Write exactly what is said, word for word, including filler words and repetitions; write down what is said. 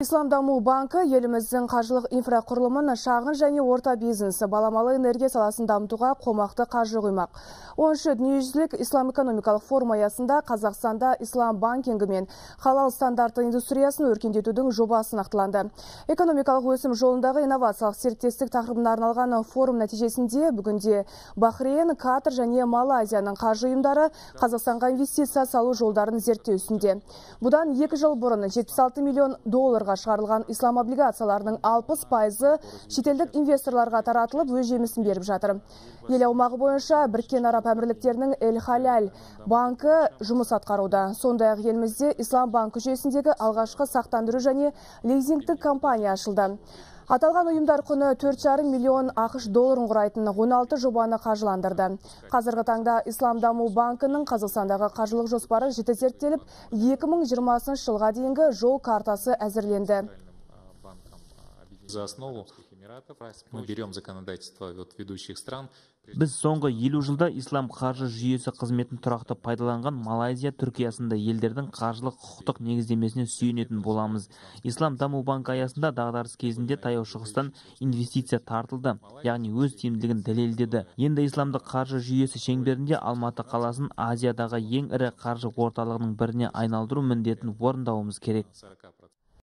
Ислам даму банкі еліміздің қаржылық инфрақұрылымын шағын және орта бизнесі баламалы энергия саласын дамытуға қомақты қаржы құймақ. оныншы дүниежүзілік ислам экономикалық форум аясында Қазақстанда ислам банкингі мен халал стандарты индустриясын өркендетудің жобасы нақтыланды. Экономикалық өсім жолындағы инновациялық серіктестік тақырыбына арналған форум нәтижесінде бүгінде Бахрейн, Катар және Малайзияның қаржы ұйымдары Қазақстанға инвестиция салу жолдарын зерттеу үстінде. Бұдан екі жыл бұрын жетпіс алты миллион долларға шығарылған ислам облигацияларының алпыс пайызы шетелдік инвесторларға таратылып өз жемісін беріп жатыр. Ел аумағы бойынша Біріккен Араб Әмірліктерінің Эль-Халяль банкі жұмыс атқаруда. Сондай-ақ елімізде ислам банкі жүйесіндегі алғашқы сақтандыру және лизингтік компания ашылды. Аталған ұйымдар құны төрт жарым миллион ақш долларын құрайтын он алты жобаны қаржыландырды. Қазіргі таңда Ислам даму банкінің Қазақстандағы қаржылық жоспары жіті зерттеліп, екі мың жиырмасыншы жылға дейінгі жол картасы әзірленді. За основу мы берем законодательство от ведущих стран. Біз соңғы елу жылда ислам қаржы жүйесі қызметін тұрақты пайдаланған Малайзия, Түркиясында елдердің қаржылық құқықтық негіздемесіне сүйенетін боламыз. Ислам даму банкі аясында дағдарыс кезінде таяу шығыстан инвестиция тартылды, яғни өз тиімділігін дәлелдеді. Енді исламдық қаржы жүйесі шеңберінде Алматы қаласын Азиядағы ең ірі қаржы орталығының біріне айналдыру міндетін орындауымыз керек.